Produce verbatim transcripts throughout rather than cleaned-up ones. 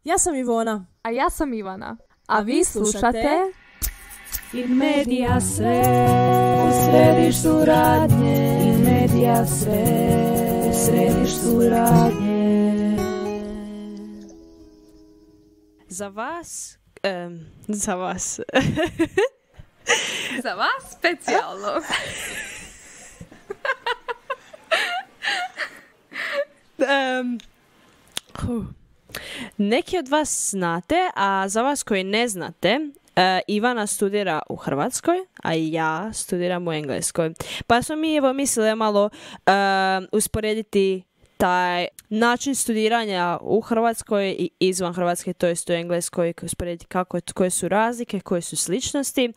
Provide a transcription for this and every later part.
Ja sam Ivona. A ja sam Ivana. A vi slušate In media sve u središtu radnje. In media sve u središtu radnje. Za vas, um, za vas. Za vas specijalno. um, huh. Neki od vas znate, a za vas koji ne znate, uh, Ivana studira u Hrvatskoj, a ja studiram u Engleskoj. Pa smo mi evo mislili malo uh, usporediti taj način studiranja u Hrvatskoj i izvan Hrvatske, to jest u Engleskoj, usporediti kako, koje su razlike, koje su sličnosti.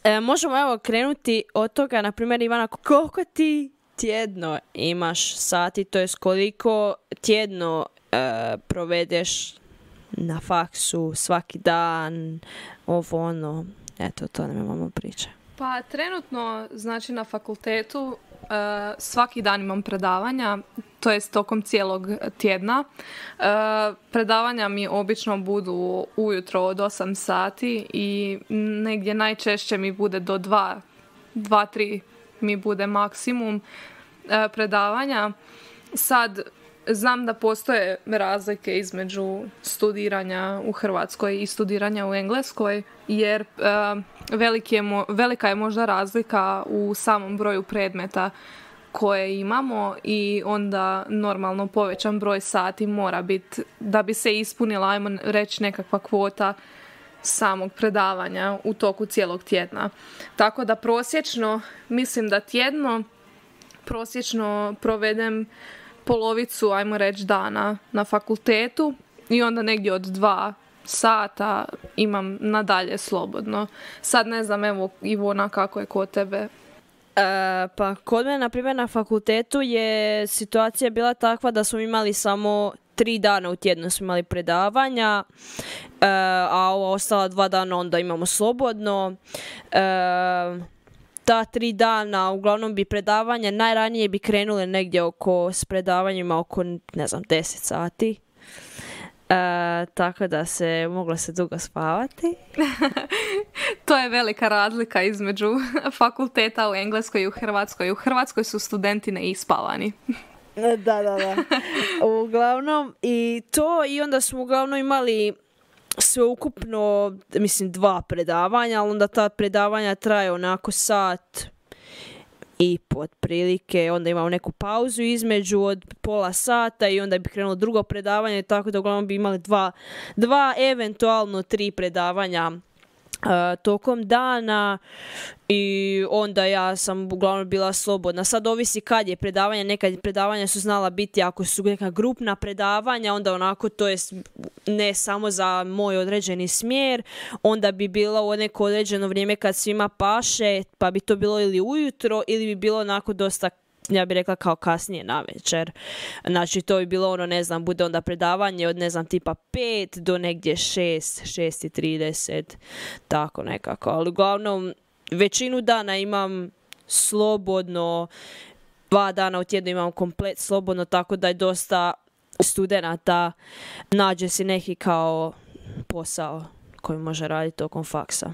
E, možemo evo krenuti od toga, na primjer, Ivana, koliko ti tjedno imaš sati, to jest koliko tjedno e, provedeš na faksu svaki dan, ovo ono, eto, to nam imamo priče. Pa trenutno, znači na fakultetu, uh, svaki dan imam predavanja, to jest tokom cijelog tjedna. Uh, predavanja mi obično budu ujutro od osam sati i negdje najčešće mi bude do dva, dva, tri mi bude maksimum uh, predavanja. Sad, znam da postoje razlike između studiranja u Hrvatskoj i studiranja u Engleskoj, jer uh, veliki je mo- velika je možda razlika u samom broju predmeta koje imamo i onda normalno povećan broj sati mora biti da bi se ispunila, ajmo reći, nekakva kvota samog predavanja u toku cijelog tjedna. Tako da prosječno, mislim da tjedno prosječno provedem polovicu, ajmo reći, dana na fakultetu i onda negdje od dva sata imam nadalje slobodno. Sad ne znam, evo Ivona, kako je kod tebe? E, pa kod mene, na primjer, na fakultetu je situacija bila takva da smo imali samo tri dana u tjednu smo imali predavanja, e, a ova ostala dva dana onda imamo slobodno. E, ta tri dana, uglavnom bi predavanja, najranije bi krenule negdje oko, s predavanjima oko, ne znam, deset sati. E, tako da se moglo se dugo spavati. To je velika razlika između fakulteta u Engleskoj i u Hrvatskoj. U Hrvatskoj su studenti neispavani. Da, da, da. Uglavnom, i to, i onda smo uglavnom imali sveukupno, mislim, dva predavanja, ali onda ta predavanja traje onako sat i po otprilike, onda imamo neku pauzu između od pola sata i onda bi krenulo drugo predavanje, tako da uglavnom bi imali dva, dva eventualno tri predavanja uh, tokom dana i onda ja sam uglavnom bila slobodna. Sad ovisi kad je predavanje, nekad predavanja su znala biti ako su neka grupna predavanja, onda onako to je ne samo za moj određeni smjer, onda bi bilo u neko određeno vrijeme kad svima paše, pa bi to bilo ili ujutro ili bi bilo onako dosta, ja bih rekla, kao kasnije na večer. Znači to bi bilo ono, ne znam, bude onda predavanje od, ne znam, tipa pet do negdje šest, šest i trideset, tako nekako. Ali uglavnom većinu dana imam slobodno, dva dana u tjednu imam komplet slobodno, tako da je dosta studenata nađe si neki kao posao koji može raditi tokom faksa.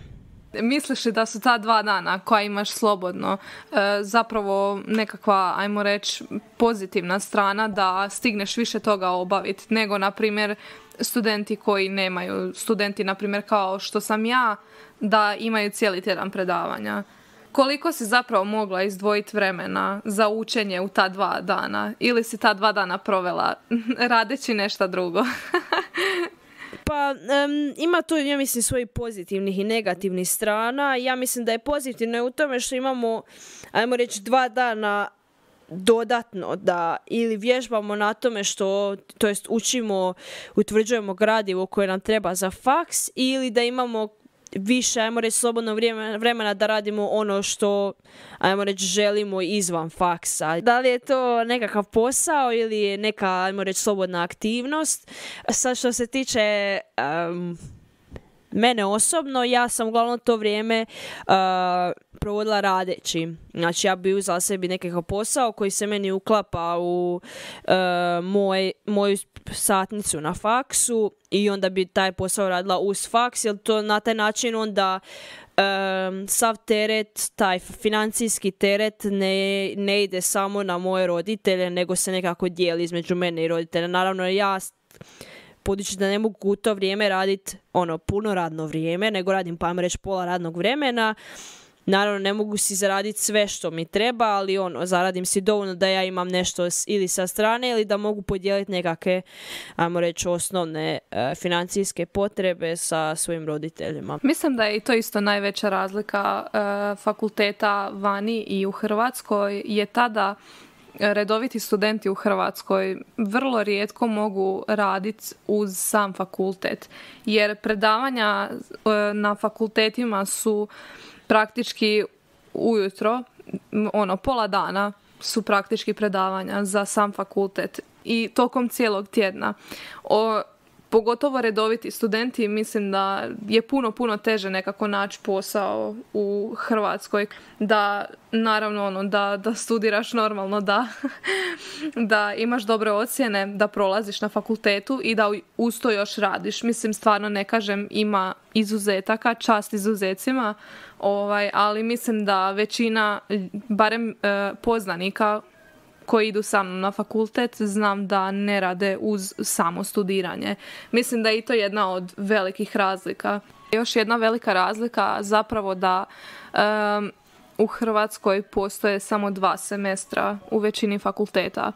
Misliš li da su ta dva dana koja imaš slobodno e, zapravo nekakva, ajmo reći, pozitivna strana da stigneš više toga obaviti nego, na primjer, studenti koji nemaju, studenti, na primjer, kao što sam ja, da imaju cijeli tjedan predavanja? Koliko si zapravo mogla izdvojiti vremena za učenje u ta dva dana? Ili si ta dva dana provela radeći nešto drugo? Pa um, ima tu, ja mislim, svojih pozitivnih i negativnih strana. Ja mislim da je pozitivno u tome što imamo, ajmo reći, dva dana dodatno da ili vježbamo na tome što, to jest učimo, utvrđujemo gradivo koje nam treba za faks, ili da imamo više, ajmo reći, slobodno vremena da radimo ono što, ajmo reći, želimo izvan faksa. Da li je to nekakav posao ili je neka, ajmo reći, slobodna aktivnost? Sad što se tiče um, mene osobno, ja sam uglavnom to vrijeme uh, provodila radeći. Znači, ja bi uzela sebi nekakav posao koji se meni uklapa u uh, moj, moju satnicu na faksu i onda bi taj posao radila uz faks, jer to na taj način onda Um, sav teret, taj financijski teret ne, ne ide samo na moje roditelje, nego se nekako dijeli između mene i roditelja. Naravno, ja budući da ne mogu u to vrijeme raditi ono, puno radno vrijeme, nego radim, pa ajmo reći, pola radnog vremena. Naravno, ne mogu si zaraditi sve što mi treba, ali ono, zaradim si dovoljno da ja imam nešto ili sa strane ili da mogu podijeliti nekakve, ajmo reći, osnovne e, financijske potrebe sa svojim roditeljima. Mislim da je i to isto najveća razlika e, fakulteta vani i u Hrvatskoj je tada redoviti studenti u Hrvatskoj vrlo rijetko mogu raditi uz sam fakultet, jer predavanja e, na fakultetima su praktički ujutro, ono, pola dana su praktički predavanja za sam fakultet i tokom cijelog tjedna. O, pogotovo redoviti studenti, mislim da je puno, puno teže nekako naći posao u Hrvatskoj, da naravno ono, da, da studiraš normalno, da, da imaš dobre ocjene, da prolaziš na fakultetu i da uz to još radiš. Mislim, stvarno ne kažem, ima izuzetaka, čast izuzecima, ovaj, ali mislim da većina, barem e, poznanika koji idu sa mnom na fakultet, znam da ne rade uz samo studiranje. Mislim da je i to jedna od velikih razlika. Još jedna velika razlika zapravo da um, u Hrvatskoj postoje samo dva semestra u većini fakulteta,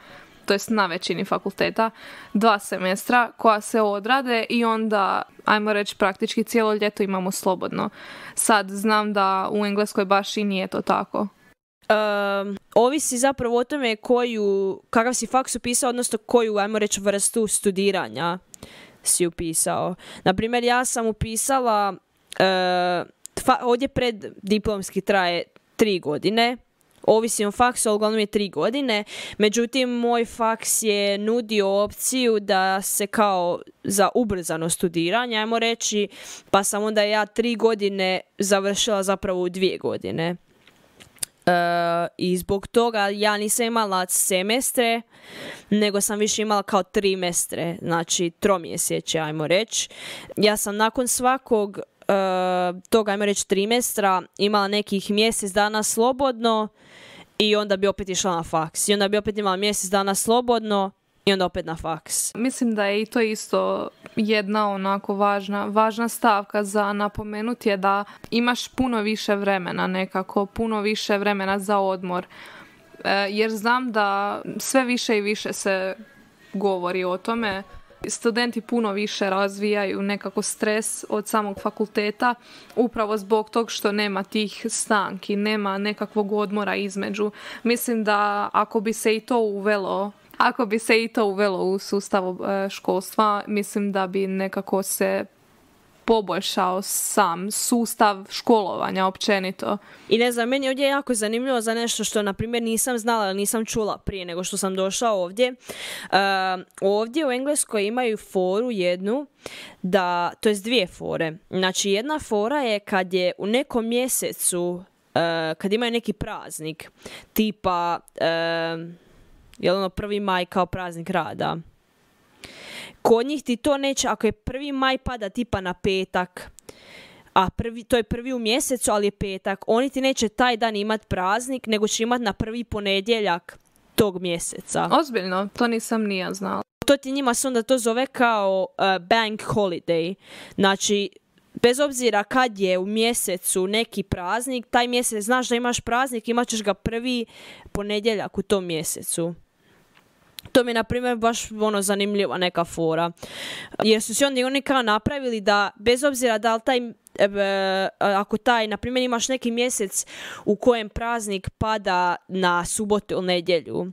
to jest na većini fakulteta, dva semestra koja se odrade i onda, ajmo reći, praktički cijelo ljeto imamo slobodno. Sad znam da u Engleskoj baš i nije to tako. Um, ovisi zapravo o tome koju, kakav si faks upisao, odnosno koju, ajmo reći, vrstu studiranja si upisao. Naprimjer, ja sam upisala, uh, fa, ovdje pred diplomski traje tri godine, ovisi o faksu, ali uglavnom je tri godine, međutim, moj faks je nudio opciju da se kao za ubrzano studiranje, ajmo reći, pa sam onda ja tri godine završila zapravo u dvije godine. Uh, i zbog toga ja nisam imala semestre, nego sam više imala kao trimestre, znači tromjesečje, ajmo reći. Ja sam nakon svakog uh, toga, ajmo reći, trimestra imala nekih mjesec dana slobodno i onda bi opet išla na faks. I onda bi opet imala mjesec dana slobodno i onda opet na faks. Mislim da je i to isto jedna onako važna, važna stavka za napomenuti je da imaš puno više vremena nekako, puno više vremena za odmor. E, jer znam da sve više i više se govori o tome. Studenti puno više razvijaju nekako stres od samog fakulteta upravo zbog tog što nema tih stanki, nema nekakvog odmora između. Mislim da ako bi se i to uvelo Ako bi se i to uvelo u sustav školstva, mislim da bi nekako se poboljšao sam sustav školovanja općenito. I ne znam, meni je ovdje jako zanimljivo za nešto što, na primjer, nisam znala, nisam čula prije nego što sam došla ovdje. Uh, ovdje u Engleskoj imaju foru jednu, da, to jest dvije fore. Znači, jedna fora je kad je u nekom mjesecu, uh, kad imaju neki praznik, tipa... Uh, je ono prvi maj kao praznik rada. Kod njih ti to neće, ako je prvi maj pada tipa na petak, a prvi, to je prvi u mjesecu, ali je petak, oni ti neće taj dan imati praznik, nego će imati na prvi ponedjeljak tog mjeseca. Ozbiljno, to nisam ni ja znala. To ti njima se onda to zove kao uh, bank holiday. Znači, bez obzira kad je u mjesecu neki praznik, taj mjesec znaš da imaš praznik, imat ćeš ga prvi ponedjeljak u tom mjesecu. To mi je, na primjer, baš ono zanimljiva neka fora. Jer su se onda oni kao napravili da, bez obzira da li taj, e, ako taj, na primjer, imaš neki mjesec u kojem praznik pada na subotu ili nedjelju,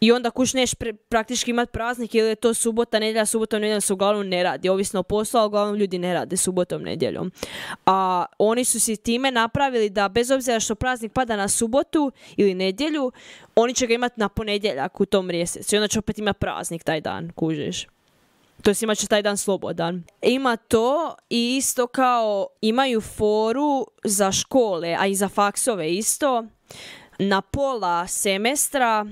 i onda kuć neš pre, praktički imati praznik ili je to subota, nedjelja, subotom, nedjeljom se uglavnom ne radi. Ovisno o poslu, ali uglavnom ljudi ne rade subotom, nedjeljom. A oni su si time napravili da bez obzira što praznik pada na subotu ili nedjelju, oni će ga imati na ponedjeljak u tom mjesecu. I onda će opet imati praznik taj dan, kužiš. to jest imat će taj dan slobodan. Ima to i isto kao imaju foru za škole, a i za faksove isto. Na pola semestra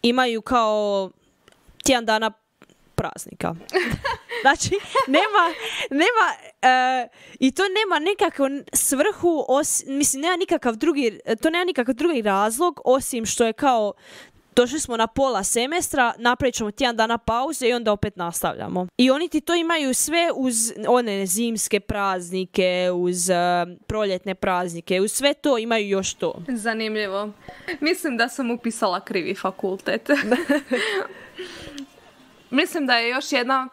imaju kao tjedan dana praznika. Znači, nema, nema uh, i to nema nekakvu svrhu, os, mislim, nema nikakav drugi, to nema nikakav drugi razlog, osim što je kao došli smo na pola semestra, napravit ćemo tjedan dana pauze i onda opet nastavljamo. I oni ti to imaju sve uz one zimske praznike, uz uh, proljetne praznike, uz sve to imaju još to. Zanimljivo. Mislim da sam upisala krivi fakultet. Mislim da je još jedna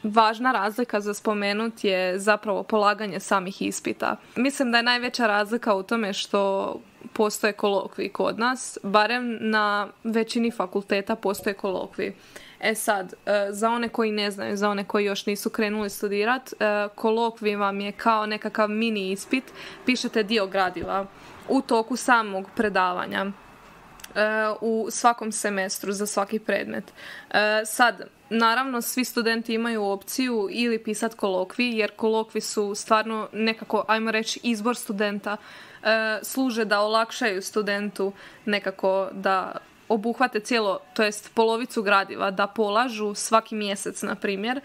važna razlika za spomenut je zapravo polaganje samih ispita. Mislim da je najveća razlika u tome što postoje kolokviji kod nas, barem na većini fakulteta postoje kolokviji. E sad, za one koji ne znaju, za one koji još nisu krenuli studirati, kolokvij vam je kao nekakav mini ispit, pišete dio gradiva u toku samog predavanja u svakom semestru za svaki predmet. Sad, naravno, svi studenti imaju opciju ili pisati kolokvij, jer kolokviji su stvarno nekako, ajmo reći, izbor studenta. Služe da olakšaju studentu nekako da obuhvate cijelo, to jest polovicu gradiva, da polažu svaki mjesec, na primjer,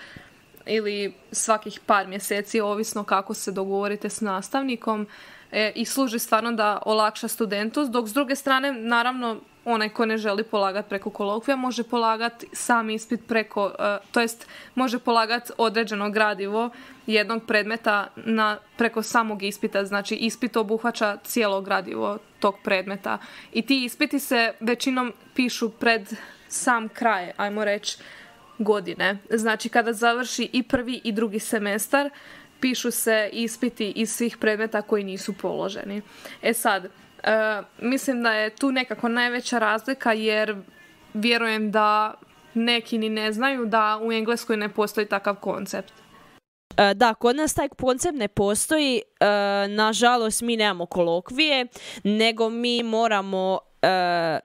ili svakih par mjeseci, ovisno kako se dogovorite s nastavnikom, e, i služi stvarno da olakša studentu, dok s druge strane, naravno, onaj ko ne želi polagati preko kolokvija može polagati sam ispit preko, e, to jest može polagati određeno gradivo jednog predmeta na, preko samog ispita. Znači, ispit obuhvaća cijelo gradivo tog predmeta. I ti ispiti se većinom pišu pred sam kraj, ajmo reći, godine. Znači, kada završi i prvi i drugi semestar, pišu se ispiti iz svih predmeta koji nisu položeni. E sad, uh, mislim da je tu nekako najveća razlika, jer vjerujem da neki ni ne znaju da u Engleskoj ne postoji takav koncept. Da, kod nas taj koncept ne postoji. Nažalost, mi nemamo kolokvije, nego mi moramo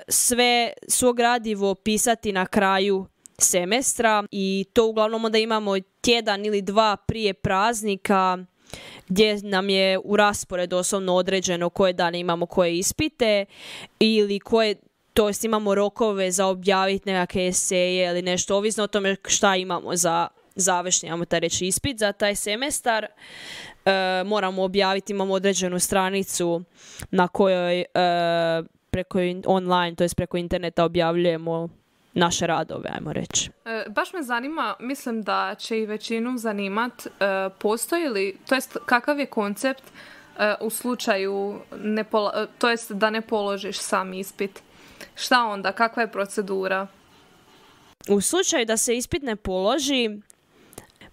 sve svo gradivo pisati na kraju semestra i to uglavnom onda imamo tjedan ili dva prije praznika gdje nam je u rasporedu osobno određeno koje dane imamo koje ispite ili koje, to jest imamo rokove za objaviti nekakve eseje ili nešto, ovisno o tome šta imamo za završni, imamo taj reći ispit za taj semestar. E, moramo objaviti, imamo određenu stranicu na kojoj e, preko online, to jest preko interneta objavljujemo naše radove, ajmo reći. E, baš me zanima, mislim da će i većinu zanimat, e, postoji li, to jest kakav je koncept e, u slučaju, ne pola, to jest da ne položiš sam ispit. Šta onda, kakva je procedura? U slučaju da se ispit ne položi,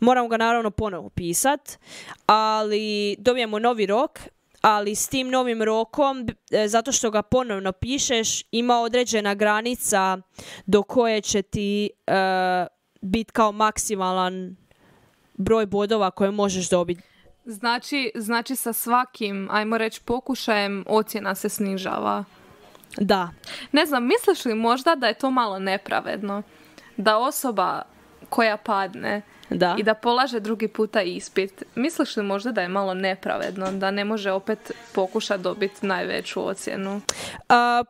moramo ga naravno ponovo pisat, ali dobijemo novi rok, ali s tim novim rokom, zato što ga ponovno pišeš, ima određena granica do koje će ti uh, biti kao maksimalan broj bodova koje možeš dobiti. Znači, znači sa svakim, ajmo reći, pokušajem ocjena se snižava. Da. Ne znam, misliš li možda da je to malo nepravedno? Da osoba koja padne da. I da polaže drugi puta ispit, misliš li možda da je malo nepravedno, da ne može opet pokušati dobiti najveću ocjenu? Uh,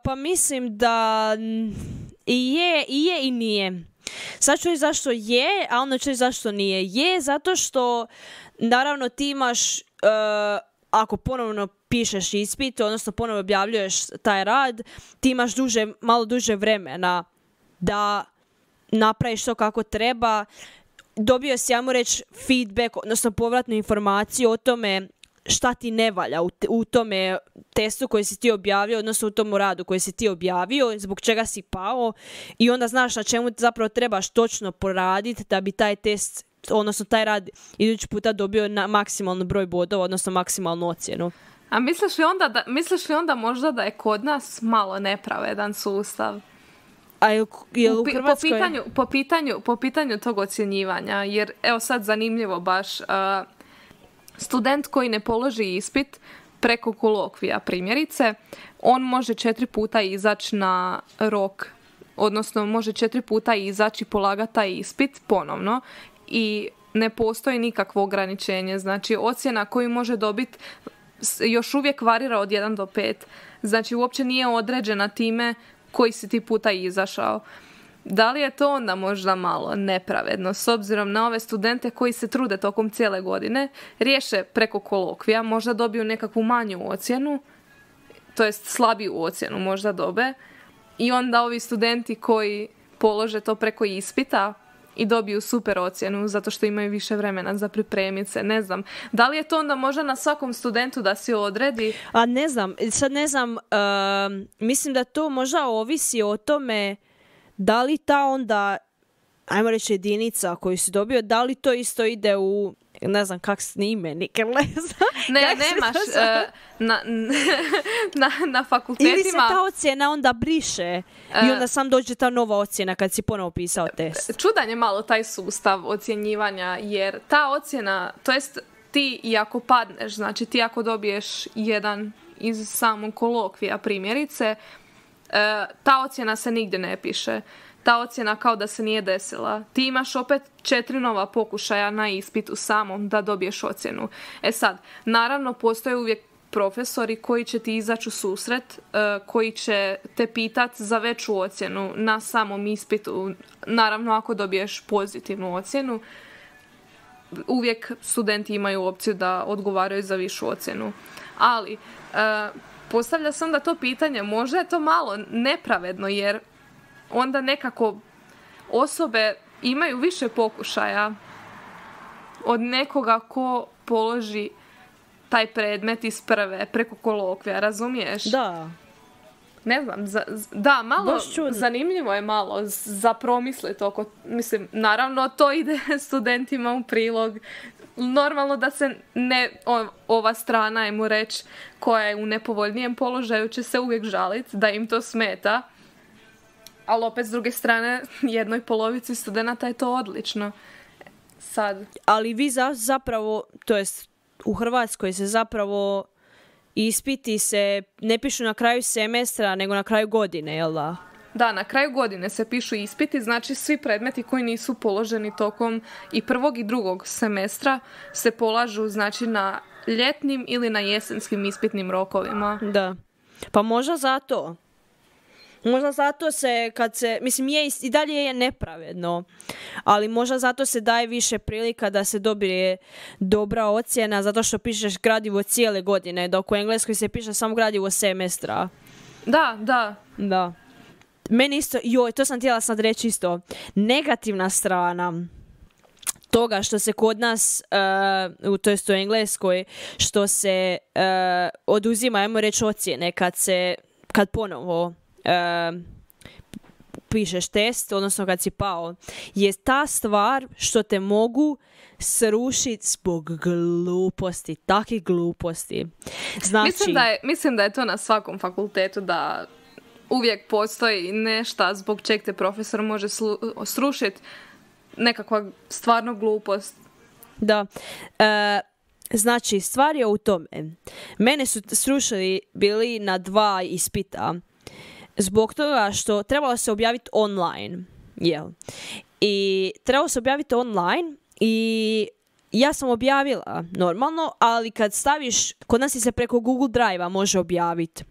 pa mislim da i je, i je i nije. Sad ću reći zašto je, a onda ću reći zašto nije. Je zato što naravno ti imaš, uh, ako ponovno pišeš ispit, odnosno ponovno objavljuješ taj rad, ti imaš duže, malo duže vremena da napraviš to kako treba. Dobio si, ja mu reći, feedback, odnosno povratnu informaciju o tome šta ti ne valja u, u tome testu koji si ti objavio, odnosno u tom radu koji si ti objavio, zbog čega si pao, i onda znaš na čemu zapravo trebaš točno poraditi da bi taj test, odnosno taj rad idući puta dobio na maksimalni broj bodova, odnosno maksimalnu ocjenu. A misliš li onda, da, misliš li onda možda da je kod nas malo nepravedan sustav? A je, je u Hrvatskoj? Po pitanju, po, pitanju, po pitanju tog ocjenjivanja, jer evo sad zanimljivo baš, uh, student koji ne položi ispit preko kolokvija primjerice, on može četiri puta izaći na rok, odnosno može četiri puta izaći i polagati taj ispit ponovno i ne postoji nikakvo ograničenje. Znači, ocjena koju može dobiti još uvijek varira od jedan do pet. Znači, uopće nije određena time koji si ti puta izašao. Da li je to onda možda malo nepravedno s obzirom na ove studente koji se trude tokom cijele godine, riješe preko kolokvija, možda dobiju nekakvu manju ocjenu, to jest slabiju ocjenu možda dobe, i onda ovi studenti koji polože to preko ispita i dobiju super ocjenu zato što imaju više vremena za pripremiti se, ne znam. Da li je to onda možda na svakom studentu da si odredi? A ne znam, sad ne znam, uh, mislim da to možda ovisi o tome da li ta onda, ajmo reći jedinica koju si dobio, da li to isto ide u, ne znam kak snime, nikad ne znam. Ne, nemaš, uh, na, na, na fakultetima. Ili se ta ocjena onda briše uh, i onda sam dođe ta nova ocjena kad si ponovo pisao test. Čudan je malo taj sustav ocjenjivanja, jer ta ocjena, to jest ti i ako padneš, znači ti ako dobiješ jedan iz samog kolokvija primjerice, uh, ta ocjena se nigdje ne piše. Ta ocjena kao da se nije desila. Ti imaš opet četiri nova pokušaja na ispitu samom da dobiješ ocjenu. E sad, naravno postoje uvijek profesori koji će ti izaći u susret, uh, koji će te pitat za veću ocjenu na samom ispitu. Naravno, ako dobiješ pozitivnu ocjenu, uvijek studenti imaju opciju da odgovaraju za višu ocjenu. Ali, uh, postavlja se onda to pitanje, možda je to malo nepravedno, jer onda nekako osobe imaju više pokušaja od nekoga ko položi taj predmet iz prve preko kolokvija, razumiješ? Da. Ne znam, za, da, malo zanimljivo je malo za promisliti oko, mislim, naravno to ide studentima u prilog. Normalno da se ne, o, ova strana, ajmo reći, koja je u nepovoljnijem položaju, će se uvijek žaliti da im to smeta. Ali opet s druge strane, jednoj polovici studenata je to odlično. Sad. Ali vi za, zapravo, to jest u Hrvatskoj se zapravo ispiti se ne pišu na kraju semestra, nego na kraju godine, jel da? Da, na kraju godine se pišu ispiti, znači svi predmeti koji nisu položeni tokom i prvog i drugog semestra se polažu, znači, na ljetnim ili na jesenskim ispitnim rokovima. Da. Pa možda zato. Možda zato se, kad se, mislim, je i dalje je nepravedno, ali možda zato se daje više prilika da se dobije dobra ocjena, zato što pišeš gradivo cijele godine, dok u Engleskoj se piše samo gradivo semestra. Da, da. Da. Meni isto, joj, to sam htjela sad reći isto, negativna strana toga što se kod nas, uh, to jest u Engleskoj, što se uh, oduzima, ajmo reći, ocjene kad se, kad ponovo Uh, pišeš test, odnosno kad si pao, je ta stvar što te mogu srušiti zbog gluposti, takih gluposti. Znači, mislim, da je, mislim da je to na svakom fakultetu, da uvijek postoji nešto zbog čeg te profesor može slu, srušiti, nekakva stvarno glupost. Da. Uh, znači, stvar je u tome. Mene su srušili bili na dva ispita zbog toga što trebalo se objaviti online. Jel? I trebalo se objaviti online i ja sam objavila normalno, ali kad staviš, kod nas se preko Google Drive-a može objaviti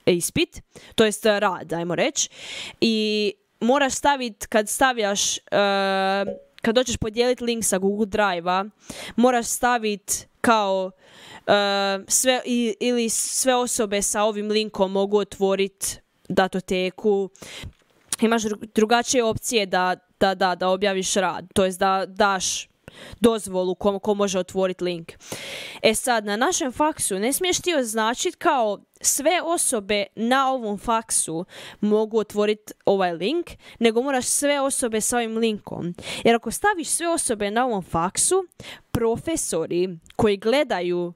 ispit, to jest rad, ajmo reći, i moraš staviti, kad stavljaš, uh, kad dođeš podijeliti link sa Google Drive-a, moraš staviti kao uh, sve, i, ili sve osobe sa ovim linkom mogu otvoriti datoteku. Imaš drugačije opcije da, da, da, da objaviš rad, to jest da daš dozvolu ko, ko može otvoriti link. E sad, na našem faksu ne smiješ ti označiti kao sve osobe na ovom faksu mogu otvoriti ovaj link, nego moraš sve osobe sa ovim linkom. Jer ako staviš sve osobe na ovom faksu, profesori koji gledaju uh,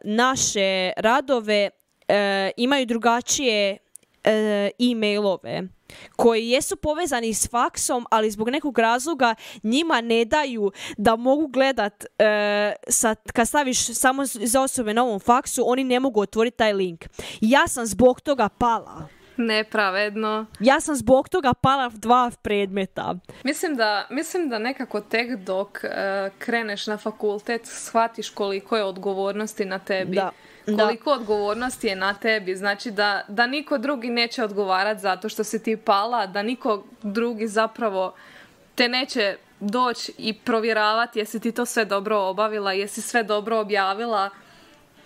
naše radove uh, imaju drugačije e-mailove koji jesu povezani s faksom, ali zbog nekog razloga njima ne daju da mogu gledat e, sa, kad staviš samo za osobe na ovom faksu, oni ne mogu otvoriti taj link. Ja sam zbog toga pala. nepravedno. Ja sam zbog toga pala dva predmeta. Mislim da, mislim da nekako tek dok uh, kreneš na fakultet shvatiš koliko je odgovornosti na tebi. Da. Koliko da. odgovornosti je na tebi. Znači da, da niko drugi neće odgovarati zato što si ti pala, da niko drugi zapravo te neće doći i provjeravati jesi ti to sve dobro obavila, jesi sve dobro objavila,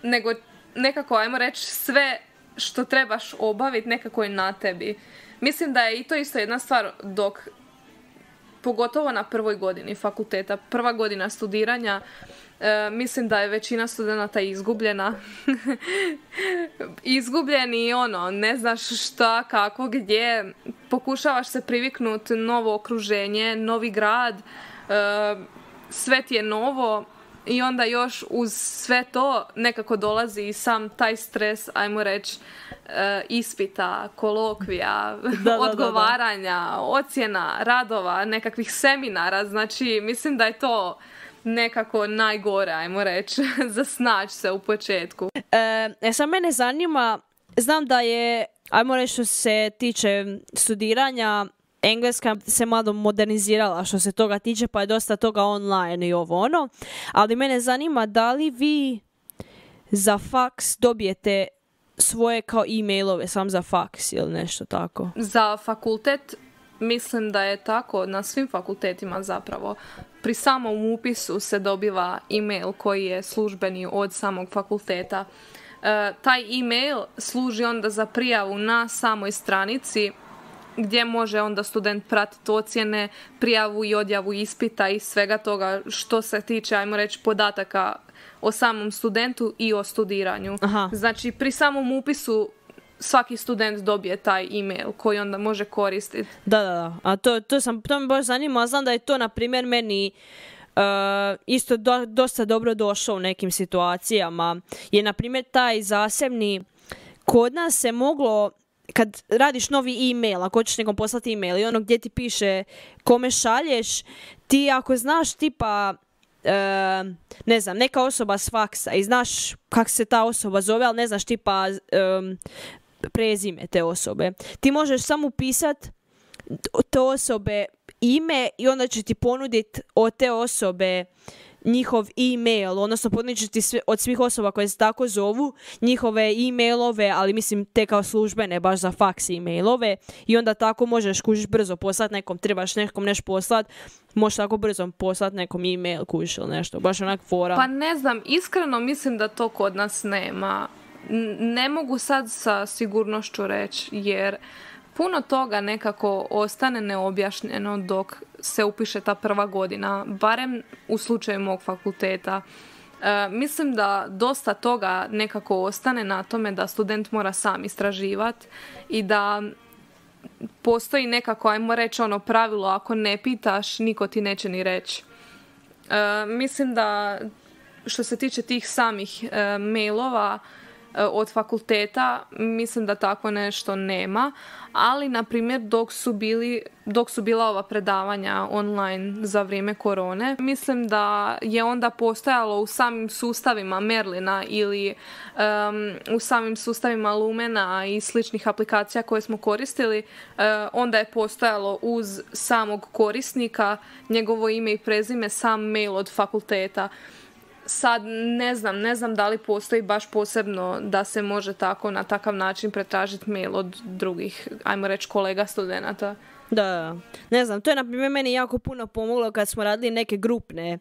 nego nekako, ajmo reći, sve što trebaš obaviti nekako je na tebi. Mislim da je i to isto jedna stvar dok, pogotovo na prvoj godini fakulteta, prva godina studiranja, e, mislim da je većina studenata izgubljena. Izgubljeni i ono, ne znaš šta, kako, gdje, pokušavaš se priviknuti novo okruženje, novi grad, e, sve ti je novo. I onda još uz sve to nekako dolazi i sam taj stres, ajmo reći, e, ispita, kolokvija, da, da, odgovaranja, da, da. ocjena, radova, nekakvih seminara. Znači, mislim da je to nekako najgore, ajmo reći, za snaći se u početku. E, sad mene zanima, znam da je, ajmo reći što se tiče studiranja, Engleska se malo modernizirala što se toga tiče, pa je dosta toga online i ovo ono. Ali mene zanima da li vi za faks dobijete svoje kao e-mailove sam za faks ili nešto tako? Za fakultet mislim da je tako na svim fakultetima zapravo. Pri samom upisu se dobiva e-mail koji je službeni od samog fakulteta. E, taj e-mail služi onda za prijavu na samoj stranici gdje može onda student pratiti ocjene, prijavu i odjavu ispita i svega toga što se tiče, ajmo reći, podataka o samom studentu i o studiranju. Aha. Znači, pri samom upisu svaki student dobije taj e-mail koji onda može koristiti. Da, da, da. A to, to, sam, to me baš zanima. Znam da je to, na primjer, meni uh, isto do, dosta dobro došlo u nekim situacijama. Je, na primjer, taj zasebni, kod nas se moglo, kad radiš novi e-mail, ako hoćeš nekom poslati e-mail i ono gdje ti piše kome šalješ, ti ako znaš tipa, uh, ne znam, neka osoba s faksa i znaš kako se ta osoba zove, ali ne znaš tipa um, prezime te osobe, ti možeš samo upisati te osobe ime i onda će ti ponuditi od te osobe njihov e-mail, odnosno ponudit će ti sve, od svih osoba koje se tako zovu, njihove e-mailove, ali mislim te kao službene, baš za faks e-mailove, i onda tako možeš kužiš brzo poslati nekom, trebaš nekom nešto poslati, možeš tako brzo poslati nekom e-mail kužiš ili nešto, baš onak fora. Pa ne znam, iskreno mislim da to kod nas nema. Ne mogu sad sa sigurnošću reći, jer puno toga nekako ostane neobjašnjeno dok se upiše ta prva godina, barem u slučaju mog fakulteta. E, mislim da dosta toga nekako ostane na tome da student mora sam istraživati i da postoji nekako, ajmo reći, ono pravilo, ako ne pitaš, niko ti neće ni reći. E, mislim da što se tiče tih samih e, mailova od fakulteta, mislim da tako nešto nema, ali na primjer dok su bili dok su bila ova predavanja online za vrijeme korone, mislim da je onda postojalo u samim sustavima Merlina ili um, u samim sustavima Lumena i sličnih aplikacija koje smo koristili, uh, onda je postojalo uz samog korisnika njegovo ime i prezime, sam mail od fakulteta. Sad ne znam, ne znam da li postoji baš posebno da se može tako na takav način pretražiti mail od drugih, ajmo reći, kolega studenata. Da, ne znam, to je na primjer meni jako puno pomoglo kad smo radili neke grupne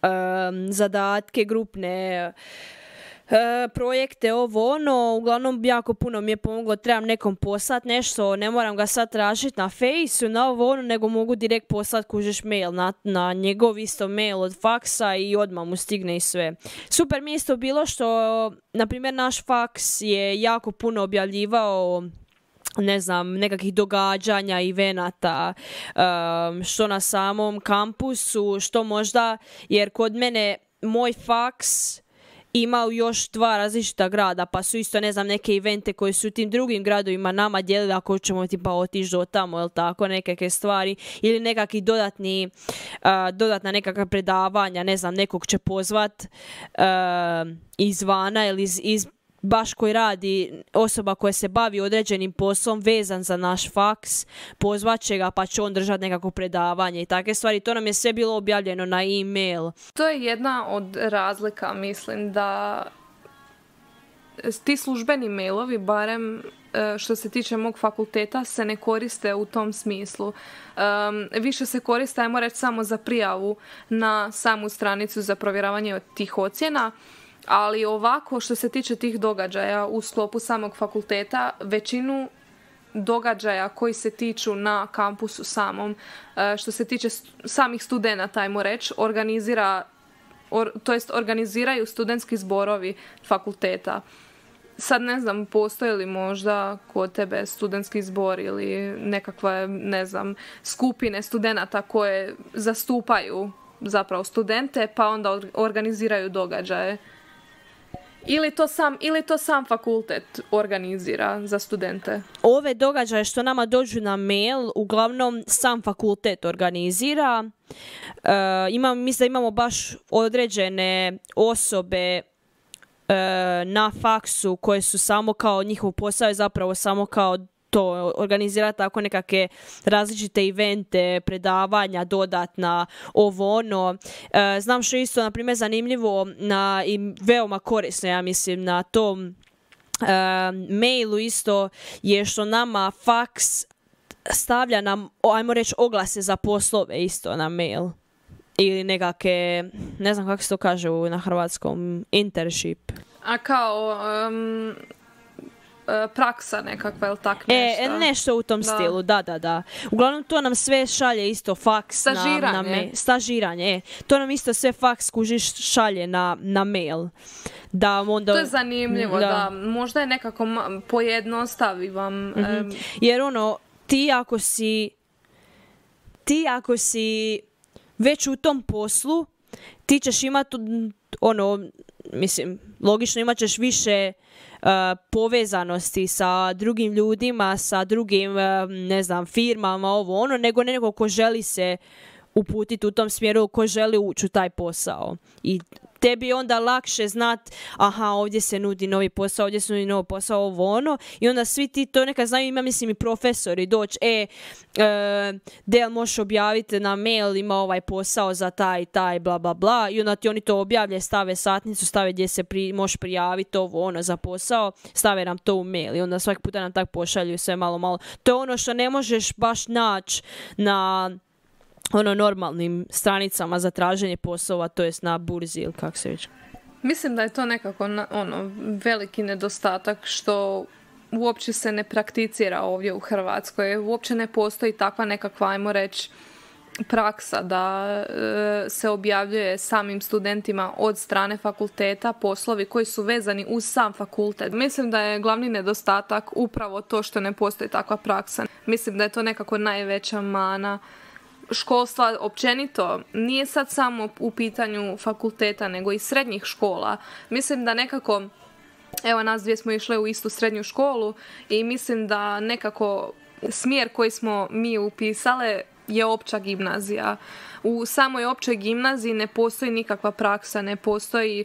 um, zadatke, grupne uh, projekte, ovo ono, uglavnom jako puno mi je pomoglo, trebam nekom poslati nešto, ne moram ga sad tražiti na Fejsu, na ovo ono, nego mogu direkt poslati kužiš mail na, na njegov isto mail od faksa i odmah mu stigne i sve. Super mi je isto bilo što, na primjer, naš faks je jako puno objavljivao, ne znam, nekakvih događanja, evenata, um, što na samom kampusu, što možda, jer kod mene moj faks imao još dva različita grada, pa su isto, ne znam, neke evente koje su u tim drugim gradovima nama dijelili ako ćemo tipa otići do tamo, ili tako, nekakve stvari, ili nekakvi dodatni, uh, dodatna nekakva predavanja, ne znam, nekog će pozvat uh, izvana ili iz, iz baš koji radi, osoba koja se bavi određenim poslom vezan za naš faks, pozvat će ga pa će on držati nekako predavanje i takve stvari. To nam je sve bilo objavljeno na e-mail. To je jedna od razlika, mislim, da ti službeni mailovi, barem što se tiče mog fakulteta, se ne koriste u tom smislu. Um, više se koriste, ajmo reći, samo za prijavu na samu stranicu za provjeravanje tih ocjena, ali ovako što se tiče tih događaja u sklopu samog fakulteta, većinu događaja koji se tiču na kampusu samom, što se tiče samih studenata, ajmo reći, organizira, or, to jest organiziraju studentski zborovi fakulteta. Sad ne znam, postoji li možda kod tebe studentski zbor ili nekakve, ne znam, skupine studenata koje zastupaju zapravo studente pa onda organiziraju događaje. Ili to sam, ili to sam fakultet organizira za studente? Ove događaje što nama dođu na mail, uglavnom sam fakultet organizira. E, imam, mislim da imamo baš određene osobe na faksu koje su samo kao, njihov posao je zapravo samo kao to, organizirati tako nekakve različite evente, predavanja, dodatna, ovo ono. E, znam što je isto, na primjer, zanimljivo na, i veoma korisno, ja mislim, na tom e, mailu isto je što nama faks stavlja nam, ajmo reći, oglase za poslove isto na mail. Ili nekakve, ne znam kako se to kaže na hrvatskom, internship. A kao um, praksa nekakva, ili tak nešto? E, nešto u tom da. stilu, da, da, da. Uglavnom to nam sve šalje isto faks Stažiranje. na, na mail. Stažiranje, e. To nam isto sve faks kužiš šalje na, na mail. Da onda, to je zanimljivo, da. da. Možda je nekako pojednostavi vam. Mm-hmm. Um, Jer ono, ti ako si ti ako si već u tom poslu, ti ćeš imati ono, mislim, logično imat ćeš više uh, povezanosti sa drugim ljudima, sa drugim, uh, ne znam, firmama, ovo ono, nego neko ko želi se uputiti u tom smjeru, ko želi ući u taj posao. I tebi je onda lakše znat, aha, ovdje se nudi novi posao, ovdje se nudi novi posao, ovo ono, i onda svi ti to neka znaju, ima mislim i profesori doći, e, e Del možeš objaviti na mail, ima ovaj posao za taj, taj, bla, bla, bla, i onda ti oni to objavlje, stave satnicu, stave gdje se pri, možeš prijaviti ovo ono za posao, stave nam to u mail i onda svaki puta nam tak pošalju sve malo, malo. To je ono što ne možeš baš naći na ono normalnim stranicama za traženje poslova, to jest na burzi ili kako se već. Mislim da je to nekako na, ono veliki nedostatak što uopće se ne prakticira ovdje u Hrvatskoj. Uopće ne postoji takva nekakva, ajmo reći, praksa da e, se objavljuje samim studentima od strane fakulteta poslovi koji su vezani uz sam fakultet. Mislim da je glavni nedostatak upravo to što ne postoji takva praksa. Mislim da je to nekako najveća mana školstva općenito. Nije sad samo u pitanju fakulteta, nego i srednjih škola. Mislim da nekako, evo nas dvije smo išle u istu srednju školu i mislim da nekako smjer koji smo mi upisale je opća gimnazija. U samoj općoj gimnaziji ne postoji nikakva praksa, ne postoji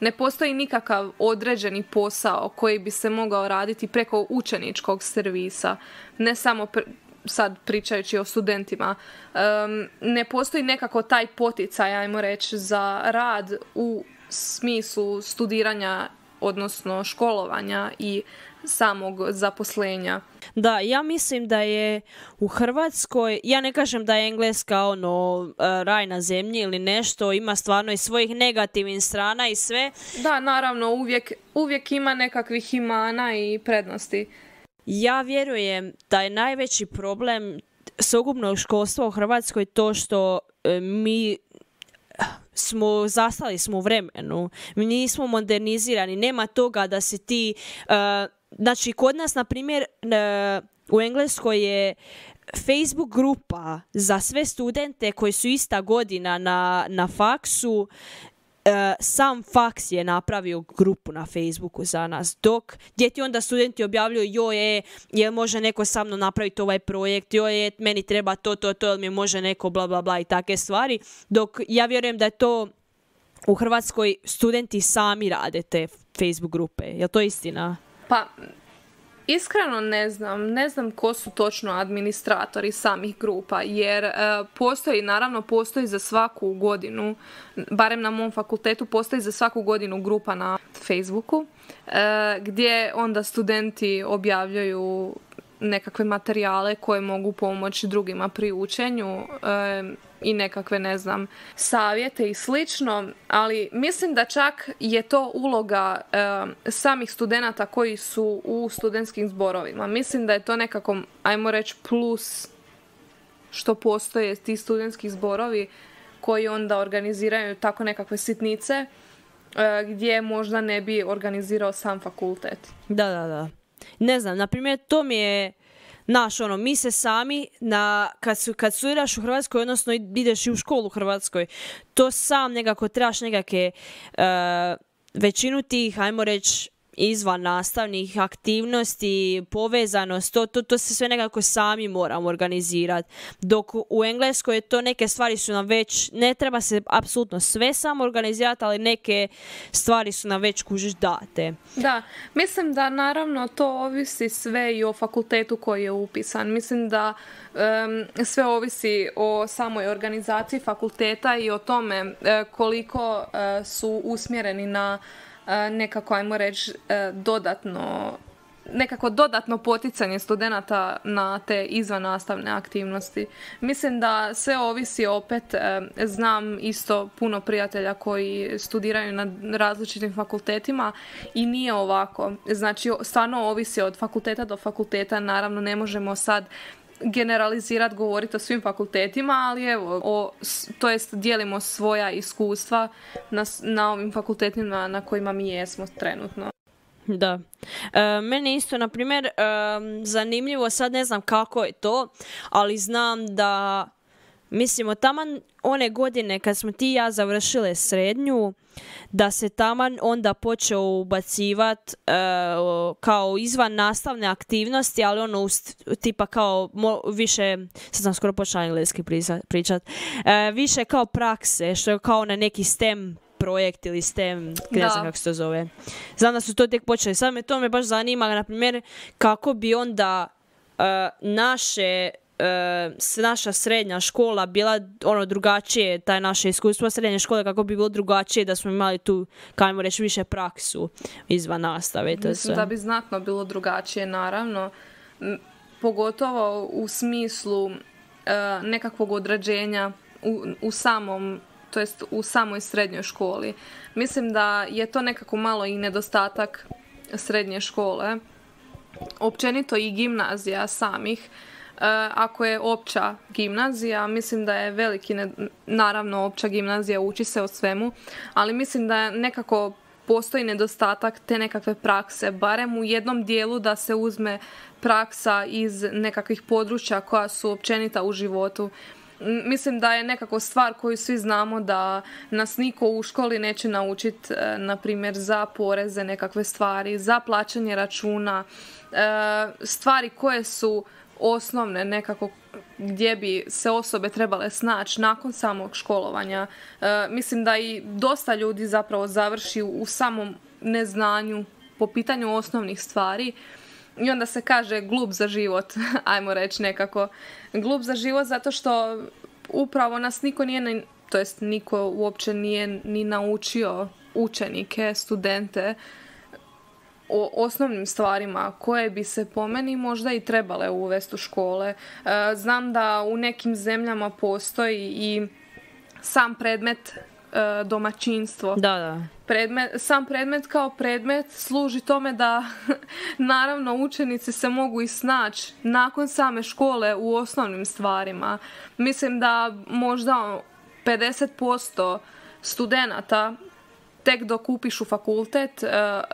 Ne postoji nikakav određeni posao koji bi se mogao raditi preko učeničkog servisa. Ne samo pre, sad pričajući o studentima. Um, ne postoji nekako taj poticaj, ajmo reći, za rad u smislu studiranja, odnosno školovanja i samog zaposlenja. Da, ja mislim da je u Hrvatskoj, ja ne kažem da je Engleska ono raj na zemlji ili nešto, ima stvarno i svojih negativnih strana i sve. Da, naravno, uvijek, uvijek ima nekakvih imana i prednosti. Ja vjerujem da je najveći problem sveukupnog školstva u Hrvatskoj to što e, mi smo zastali smo u vremenu, mi nismo modernizirani, nema toga da se ti e, znači kod nas na primjer e, u Engleskoj je Facebook grupa za sve studente koji su ista godina na, na faksu. Uh, sam faks je napravio grupu na Facebooku za nas, dok gdje ti onda studenti objavljuju joj je, jel može neko sa mnom napraviti ovaj projekt, joj je, meni treba to, to, to, jel mi može neko bla bla bla i takve stvari, dok ja vjerujem da je to u Hrvatskoj studenti sami rade te Facebook grupe. Je li to istina? Pa, iskreno ne znam. Ne znam ko su točno administratori samih grupa, jer e, postoji, naravno postoji za svaku godinu, barem na mom fakultetu, postoji za svaku godinu grupa na Facebooku, e, gdje onda studenti objavljaju nekakve materijale koje mogu pomoći drugima pri učenju e, i nekakve, ne znam, savjete i slično, ali mislim da čak je to uloga e, samih studenata koji su u studentskim zborovima. Mislim da je to nekako, ajmo reći, plus što postoje ti studentski zborovi koji onda organiziraju tako nekakve sitnice e, gdje možda ne bi organizirao sam fakultet. Da, da, da. Ne znam, na primjer, to mi je, naš, ono, mi se sami, na, kad, su, kad studiraš u Hrvatskoj, odnosno ideš i u školu u Hrvatskoj, to sam nekako trebaš nekakve, uh, većinu tih, ajmo reći, izvan nastavnih aktivnosti, povezanost, to, to, to se sve nekako sami moramo organizirati. Dok u Engleskoj to neke stvari su nam već, ne treba se apsolutno sve samo organizirati, ali neke stvari su nam već kužiš date. Da, mislim da naravno to ovisi sve i o fakultetu koji je upisan. Mislim da um, sve ovisi o samoj organizaciji fakulteta i o tome uh, koliko uh, su usmjereni na nekako, ajmo reći, dodatno nekako dodatno poticanje studenata na te izvannastavne aktivnosti. Mislim da sve ovisi opet, znam isto puno prijatelja koji studiraju na različitim fakultetima i nije ovako. Znači, stvarno ovisi od fakulteta do fakulteta, naravno ne možemo sad generalizirati, govoriti o svim fakultetima, ali evo, o, to jest dijelimo svoja iskustva na, na ovim fakultetima na kojima mi jesmo trenutno. Da. E, meni isto, na primjer, e, zanimljivo, sad ne znam kako je to, ali znam da, mislimo, taman one godine kad smo ti i ja završile srednju, da se taman onda počeo ubacivati e, kao izvan nastavne aktivnosti, ali ono ust, tipa kao mo, više, sad sam skoro počela engleski pričat, e, više kao prakse, što je kao na neki STEM projekt ili STEM, ne znam kako se to zove. Znam da su to tek počeli. Sad me to me baš zanima, na primjer, kako bi onda uh, naše uh, naša srednja škola bila ono drugačije, taj naše iskustvo srednje škole, kako bi bilo drugačije da smo imali tu, kajmo reći, više praksu izvan nastave. To Mislim sve. Da bi znatno bilo drugačije, naravno. Pogotovo u smislu uh, nekakvog određenja u, u samom to jest u samoj srednjoj školi. Mislim da je to nekako malo i nedostatak srednje škole. Općenito i gimnazija samih. E, ako je opća gimnazija, mislim da je veliki, ne, naravno opća gimnazija uči se o svemu, ali mislim da nekako postoji nedostatak te nekakve prakse, barem u jednom dijelu da se uzme praksa iz nekakvih područja koja su općenita u životu. Mislim da je nekako stvar koju svi znamo da nas niko u školi neće naučiti, na primjer, za poreze, nekakve stvari, za plaćanje računa, stvari koje su osnovne nekako gdje bi se osobe trebale snaći nakon samog školovanja. Mislim da i dosta ljudi zapravo završi u samom neznanju po pitanju osnovnih stvari. I onda se kaže glup za život, ajmo reći nekako. Glup za život zato što upravo nas niko nije, to jest niko uopće nije ni naučio učenike, studente o osnovnim stvarima koje bi se po meni možda i trebale uvesti u škole. Znam da u nekim zemljama postoji i sam predmet domaćinstvo. Da, da. Predmet, sam predmet kao predmet služi tome da naravno učenici se mogu i snaći nakon same škole u osnovnim stvarima. Mislim da možda pedeset posto studenata tek dok upišu fakultet,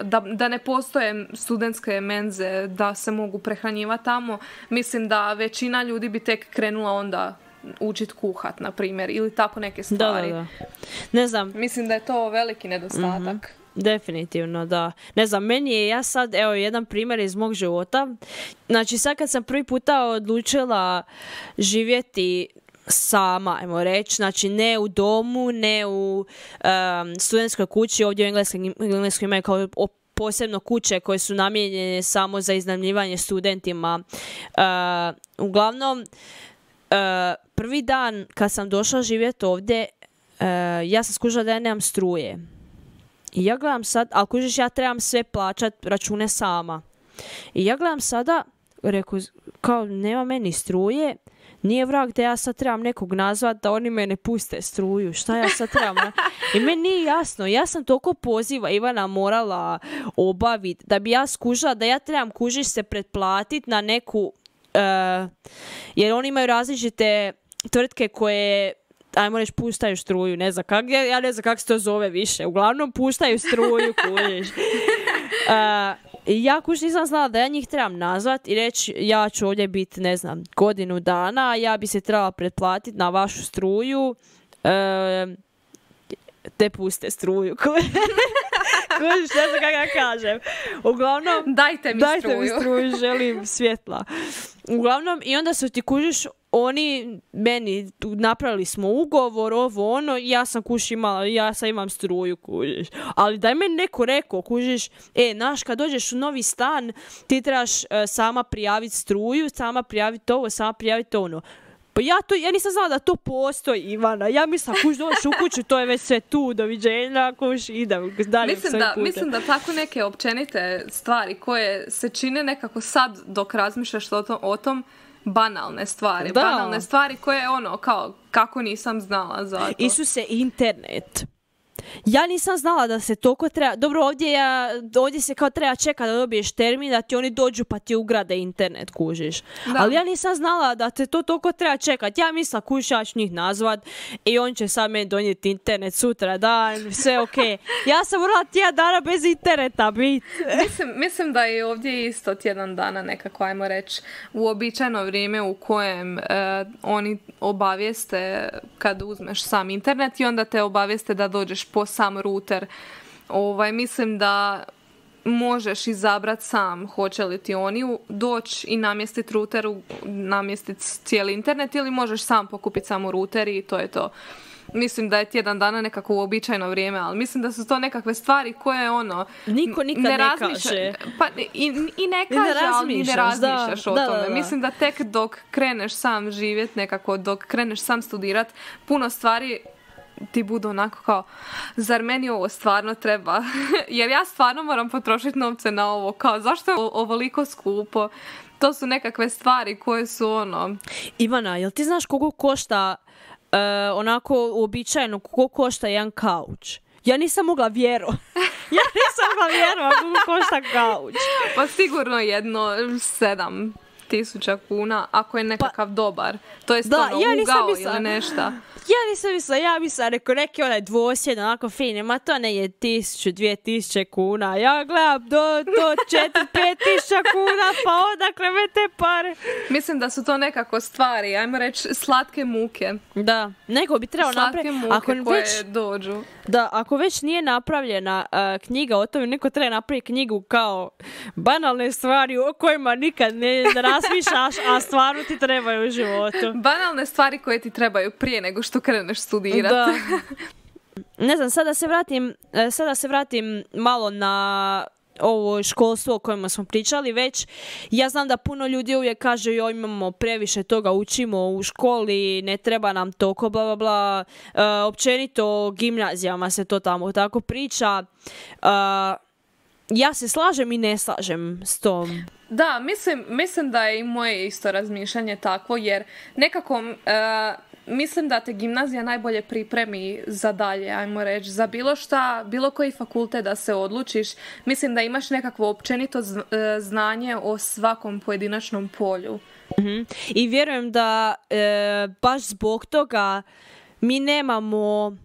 da, da ne postoje studentske menze da se mogu prehranjivati tamo, mislim da većina ljudi bi tek krenula onda učit kuhat, na primjer, ili tako neke stvari. Da, da, da. Ne znam. Mislim da je to veliki nedostatak. Mm-hmm. Definitivno, da. Ne znam, meni je, ja sad, evo, jedan primjer iz mog života. Znači, sad kad sam prvi puta odlučila živjeti sama, ajmo reći, znači ne u domu, ne u um, studentskoj kući, ovdje u engleskom, engleskom imaju kao posebno kuće koje su namijenjene samo za iznajmljivanje studentima. Uh, uglavnom, uh, prvi dan kad sam došla živjeti ovdje, uh, ja sam skužila da ja nemam struje. I ja gledam sad, ali kužiš, ja trebam sve plaćat račune sama. I ja gledam sada, reku, kao nema meni struje, nije vrag da ja sad trebam nekog nazvat da oni me ne puste struju. Šta ja sad trebam? I meni nije jasno. Ja sam toliko poziva Ivana morala obaviti da bi ja skužila da ja trebam kužiš se pretplatiti na neku... Uh, jer oni imaju različite tvrtke koje... ajmo reći, puštaju struju, ne znam kak, ja, ja ne znam kako se to zove više. Uglavnom, puštaju struju, kužiš. Uh, ja kuš nisam znala da ja njih trebam nazvat i reći ja ću ovdje biti, ne znam, godinu dana, ja bi se trebala pretplatiti na vašu struju, uh, te puste struju. Kužiš, ne znam kako ja kažem. Uglavnom, dajte mi dajte struju. mi struju, želim svjetla. Uglavnom, i onda su ti kužiš, oni meni napravili smo ugovor, ovo ono, ja sam kuš imala, ja sam imam struju, kužiš. Ali da je meni neko rekao, kužiš, e, znaš, kad dođeš u novi stan, ti trebaš uh, sama prijaviti struju, sama prijaviti ovo, sama prijaviti ono. Pa ja, to, ja nisam znala da to postoji, Ivana. Ja mislim, kuš dođeš u kuću, to je već sve tu, doviđenja, kuš, idem dalje mislim svojim da, putem. mislim da tako neke općenite stvari koje se čine nekako sad dok razmišljaš o tom, o tom banalne stvari. Da. Banalne stvari koje ono, kao, kako nisam znala za to. Isuse, internet. Ja nisam znala da se toliko treba... Dobro, ovdje, ja, ovdje se kao treba čekati da dobiješ termin, da ti oni dođu pa ti ugrade internet, kužiš. Da. Ali ja nisam znala da te to toliko treba čekati. Ja mislim, kužiš, ja ću njih nazvat i on će sad meni donijeti internet sutra dan, sve ok. Ja sam morala tjedan dana bez interneta biti. Mislim, mislim da je ovdje isto tjedan dana nekako, ajmo reći, uobičajeno vrijeme u kojem e, oni obavijeste kad uzmeš sam internet i onda te obavijeste da dođeš po sam ruter. Ovaj, mislim da možeš izabrati sam hoće li ti oni doći i namjestiti ruter, namjestiti cijeli internet ili možeš sam pokupiti samo ruter i to je to. Mislim da je tjedan dana nekako uobičajeno vrijeme, ali mislim da su to nekakve stvari koje ono... Niko nikad ne, ne kaže. Pa i, i ne kaže, ne ali ni ne razmišljaš da, o da, tome. da, da. Mislim da tek dok kreneš sam živjet nekako, dok kreneš sam studirat, puno stvari ti budu onako kao, zar meni ovo stvarno treba? Jer ja stvarno moram potrošiti novce na ovo, kao zašto je ovoliko skupo? To su nekakve stvari koje su ono... Ivana, jel ti znaš koliko košta uh, onako uobičajeno, koliko košta jedan kauč? Ja nisam mogla vjerovati. Ja nisam mogla vjerovati koliko košta kauč. Pa sigurno jedno sedam tisuća kuna, ako je nekakav pa, dobar. To je da, ono ja ugao mislila, ili nešto. Ja nisam mislila, ja mislila, rekao, neki onaj dvosjed, onako fin, ma to ne je tisuću, dvije tisuće kuna. Ja gledam do, do četiri, pet tisuća kuna, pa odakle me te pare. Mislim da su to nekako stvari, ajmo reći, slatke muke. Da, neko bi trebao napraviti. Slatke muke ako koje već, dođu. Da, ako već nije napravljena uh, knjiga o tome, neko treba napraviti knjigu kao banalne stvari o kojima nikad ne razmišljaš, a stvarno ti trebaju u životu. Banalne stvari koje ti trebaju prije nego što kreneš studirati. Da. Ne znam, sada se vratim, sada se vratim malo na ovo školstvo o kojima smo pričali već. Ja znam da puno ljudi uvijek kaže joj imamo previše toga, učimo u školi, ne treba nam toliko, bla bla bla. E, općenito o gimnazijama se to tamo tako priča. E, ja se slažem i ne slažem s tom. Da, mislim, mislim da je i moje isto razmišljanje takvo, jer nekako... E, mislim da te gimnazija najbolje pripremi za dalje, ajmo reći, za bilo šta, bilo koji fakultet da se odlučiš. Mislim da imaš nekakvo općenito znanje o svakom pojedinačnom polju. Mm-hmm. I vjerujem da e, baš zbog toga mi nemamo...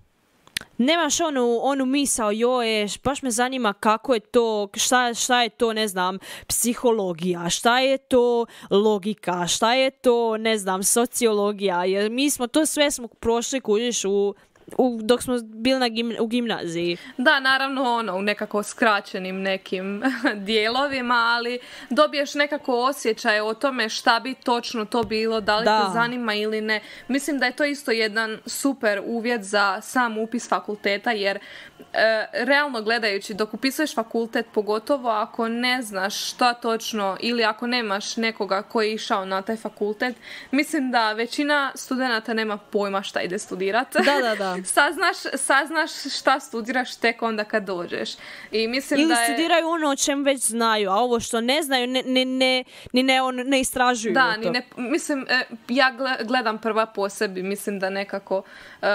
Nemaš onu, onu misao, joj, baš me zanima kako je to, šta, šta je to, ne znam, psihologija, šta je to logika, šta je to, ne znam, sociologija, jer mi smo to sve smo prošli kužiš u u, dok smo bili na gim, u gimnaziji. Da, naravno ono, u nekako skraćenim nekim dijelovima, ali dobiješ nekako osjećaj o tome šta bi točno to bilo, da li Da. te zanima ili ne. Mislim da je to isto jedan super uvjet za sam upis fakulteta, jer e, realno gledajući, dok upisuješ fakultet, pogotovo ako ne znaš šta točno ili ako nemaš nekoga koji je išao na taj fakultet, mislim da većina studenata nema pojma šta ide studirati. Da, da, da. saznaš, saznaš šta studiraš tek onda kad dođeš. I mislim Ili da je... studiraju ono o čem već znaju, a ovo što ne znaju ne, ne, ne, ni ne, on, ne istražuju. Da, to. ni ne, mislim, e, ja gle- gledam prva po sebi, mislim da nekako e,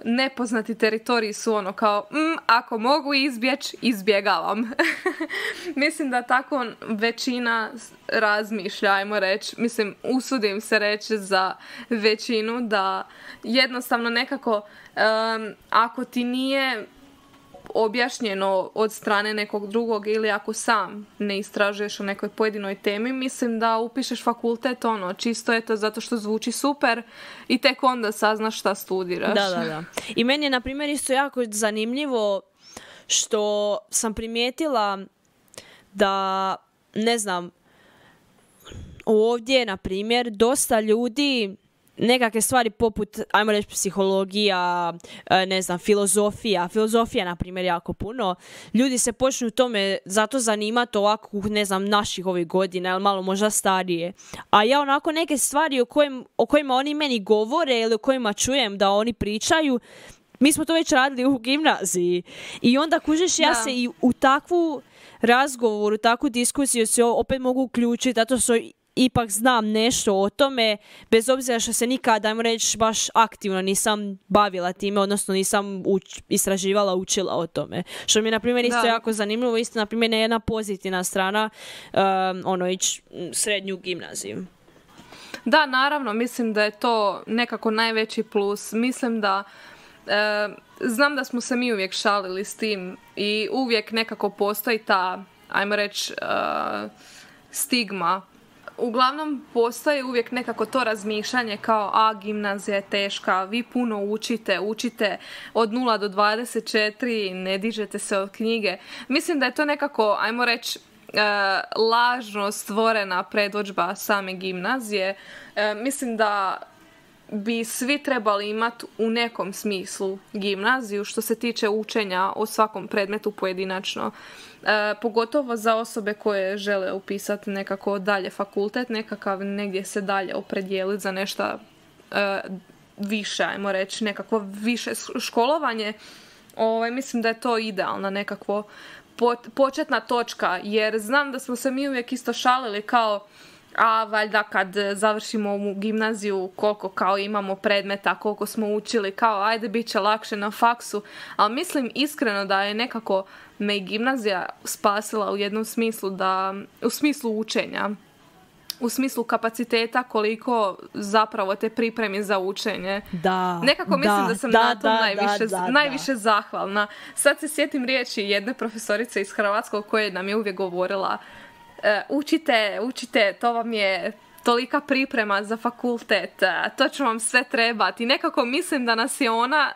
nepoznati teritoriji su ono kao, mm, ako mogu izbjeći, izbjegavam. Mislim da tako većina razmišlja, ajmo reći, mislim, usudim se reći za većinu da jednostavno nekako, em, ako ti nije objašnjeno od strane nekog drugog ili ako sam ne istražuješ o nekoj pojedinoj temi, mislim da upišeš fakultet ono, čisto je to zato što zvuči super i tek onda saznaš šta studiraš. Da, da, da. I meni je, na primjer, isto jako zanimljivo što sam primijetila da, ne znam, ovdje, na primjer, dosta ljudi nekakve stvari poput, ajmo reći, psihologija, ne znam, filozofija. Filozofija, na primjer, jako puno. Ljudi se počnu tome zato zanimati ovako, ne znam, naših ovih godina, ili malo možda starije. A ja onako neke stvari o, kojim, o kojima oni meni govore ili o kojima čujem da oni pričaju, mi smo to već radili u gimnaziji. I onda, kužiš, ja Da. se i u takvu razgovor, u takvu diskusiju se opet mogu uključiti, zato što ipak znam nešto o tome, bez obzira što se nikad, ajmo reći, baš aktivno nisam bavila time, odnosno nisam uč, istraživala, učila o tome. Što mi je, na primjer, isto Da. jako zanimljivo, isto, na primjer, jedna pozitivna strana, um, ono, ići srednju gimnaziju. Da, naravno, mislim da je to nekako najveći plus. Mislim da e, znam da smo se mi uvijek šalili s tim i uvijek nekako postoji ta, ajmo reći, e, stigma. Uglavnom postoji uvijek nekako to razmišljanje kao, a gimnazija je teška, vi puno učite, učite od nula do dvadeset četiri, ne dižete se od knjige. Mislim da je to nekako, ajmo reći, e, lažno stvorena predodžba same gimnazije. E, mislim da bi svi trebali imati u nekom smislu gimnaziju što se tiče učenja o svakom predmetu pojedinačno. E, pogotovo za osobe koje žele upisati nekako dalje fakultet, nekakav negdje se dalje opredijeliti za nešto e, više, ajmo reći, nekako više školovanje. Ovaj, mislim da je to idealna nekakvo početna točka, jer znam da smo se mi uvijek isto šalili kao, a valjda kad završimo ovu gimnaziju koliko kao imamo predmeta, koliko smo učili, kao ajde bit će lakše na faksu, ali mislim iskreno da je nekako me i gimnazija spasila u jednom smislu, da u smislu učenja, u smislu kapaciteta koliko zapravo te pripremi za učenje. Da, Nekako mislim da, da sam da, na tom da, najviše, da, da, najviše zahvalna. Sad se sjetim riječi jedne profesorice iz Hrvatskog koje nam je uvijek govorila, e, učite, učite, to vam je tolika priprema za fakultet, to će vam sve trebati. I nekako mislim da nas je ona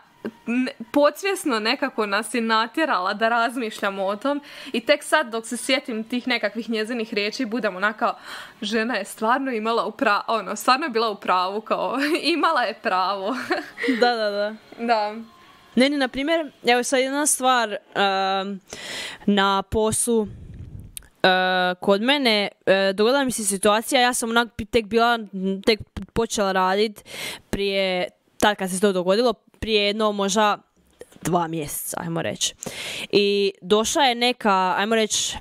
podsvjesno nekako nas je natjerala da razmišljamo o tom i tek sad dok se sjetim tih nekakvih njezinih riječi budem onako, žena je stvarno imala u pravu, ono, stvarno je bila u pravu, kao imala je pravo. Da, da, da. Da. Ne, ne, na primjer, evo sad jedna stvar um, na poslu. Uh, kod mene uh, dogodila mi se situacija, ja sam onak tek bila, tek počela raditi prije, tad kad se to dogodilo, prije jedno možda dva mjeseca, ajmo reći. I došla je neka, ajmo reći,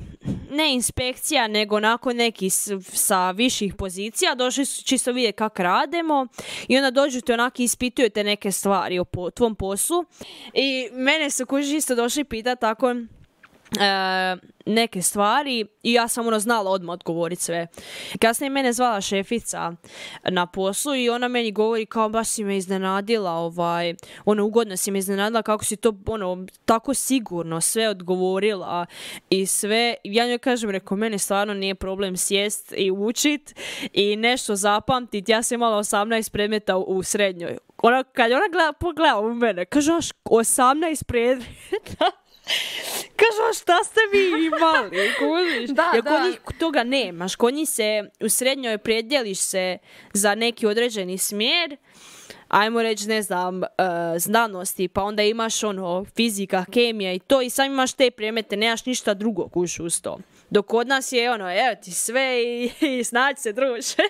ne inspekcija, nego onako neki s, sa viših pozicija, došli su čisto vidjeti kako radimo i onda dođu te onako ispituju te neke stvari o po, tvom poslu. I mene su kuži isto došli pitati tako, E, neke stvari i ja sam ono znala odmah odgovoriti sve. Kasnije mene zvala šefica na poslu i ona meni govori kao baš si me iznenadila, ovaj, ono ugodno si me iznenadila kako si to ono tako sigurno sve odgovorila i sve. Ja njoj kažem, reko, meni stvarno nije problem sjest i učit i nešto zapamtit. Ja sam imala osamnaest predmeta u, u srednjoj. Ona, kad ona gleda, pogleda u mene, kaže, osamnaest predmeta. Kažu, šta ste vi imali? Kužiš? Da, Jer da. kod njih toga nemaš. Kod njih se u srednjoj predjeliš se za neki određeni smjer, ajmo reći, ne znam, uh, znanosti, pa onda imaš ono, fizika, kemija i to i sam imaš te predmete, nemaš ništa drugo, kuš, uz to. Dok kod nas je ono, evo ti sve i, i snađi se, druže.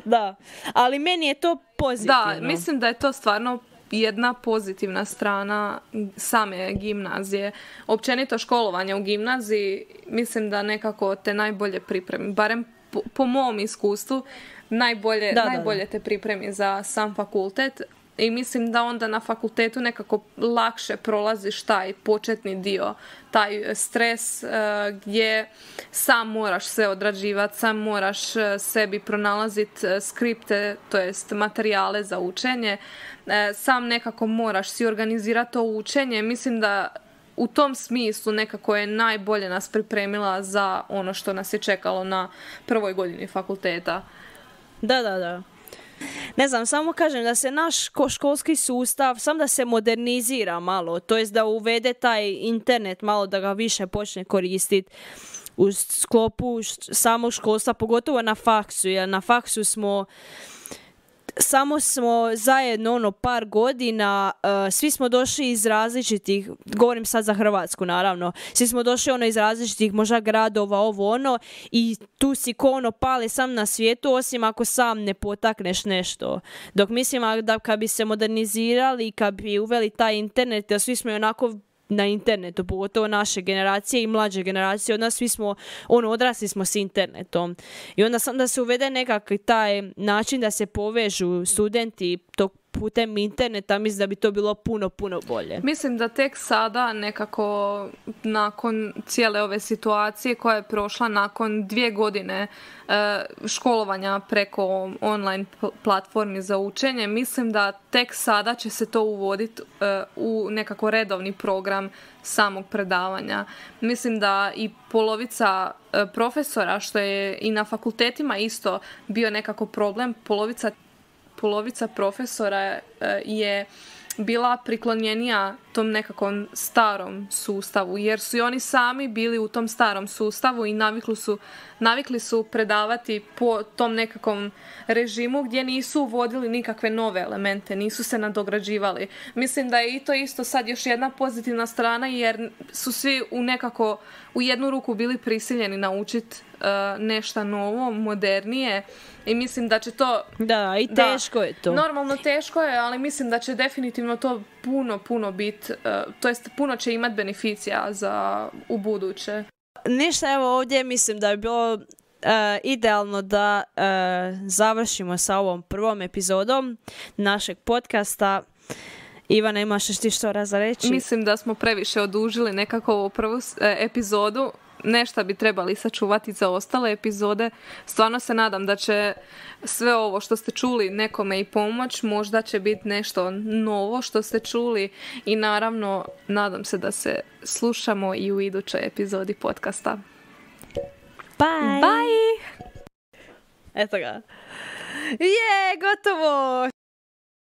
Da, ali meni je to pozitivno. Da, mislim da je to stvarno jedna pozitivna strana same gimnazije. Općenito školovanje u gimnaziji, mislim da nekako te najbolje pripremi, barem po, po mom iskustvu, najbolje, da, najbolje da, da. te pripremi za sam fakultet. I mislim da onda na fakultetu nekako lakše prolaziš taj početni dio, taj stres uh, gdje sam moraš sve odrađivati, sam moraš uh, sebi pronalaziti uh, skripte, to jest materijale za učenje, uh, sam nekako moraš si organizirati to učenje. Mislim da u tom smislu nekako je najbolje nas pripremila za ono što nas je čekalo na prvoj godini fakulteta. Da, da, da. Ne znam, samo kažem da se naš školski sustav, sam da se modernizira malo, to jest da uvede taj internet malo, da ga više počne koristiti u sklopu samog školstva, pogotovo na faksu, jer na faksu smo samo smo zajedno ono par godina, uh, svi smo došli iz različitih, govorim sad za Hrvatsku naravno, svi smo došli ono iz različitih možda gradova, ovo ono, i tu si ko ono pale sam na svijetu, osim ako sam ne potakneš nešto. Dok mislim da kad bi se modernizirali, kad bi uveli taj internet, jer svi smo onako na internetu, pogotovo naše generacije i mlađe generacije od nas, svi smo, ono, odrasli smo s internetom. I onda sam da se uvede nekakvi taj način da se povežu studenti tog putem interneta, mislim da bi to bilo puno, puno bolje. Mislim da tek sada nekako nakon cijele ove situacije koja je prošla nakon dvije godine e, školovanja preko online platformi za učenje, mislim da tek sada će se to uvoditi e, u nekako redovni program samog predavanja. Mislim da i polovica e, profesora, što je i na fakultetima isto bio nekako problem, polovica polovica profesora je bila priklonjenija tom nekakvom starom sustavu, jer su i oni sami bili u tom starom sustavu i navikli su, navikli su predavati po tom nekakvom režimu gdje nisu uvodili nikakve nove elemente, nisu se nadograđivali. Mislim da je i to isto sad još jedna pozitivna strana, jer su svi u nekako u jednu ruku bili prisiljeni naučiti uh, nešto novo, modernije, i mislim da će to... Da, i teško da, je to. Normalno teško je, ali mislim da će definitivno to puno, puno biti, uh, to jest puno će imati beneficija za u buduće. Ništa, evo ovdje mislim da je bilo uh, idealno da uh, završimo sa ovom prvom epizodom našeg podcasta. Ivana, imaš još ti što za reći? Mislim da smo previše odužili nekako ovu prvu e, epizodu. Nešto bi trebali sačuvati za ostale epizode. Stvarno se nadam da će sve ovo što ste čuli nekome i pomoć. Možda će biti nešto novo što ste čuli. I naravno, nadam se da se slušamo i u idućoj epizodi podcasta. Bye! Bye! Eto ga. Je, gotovo!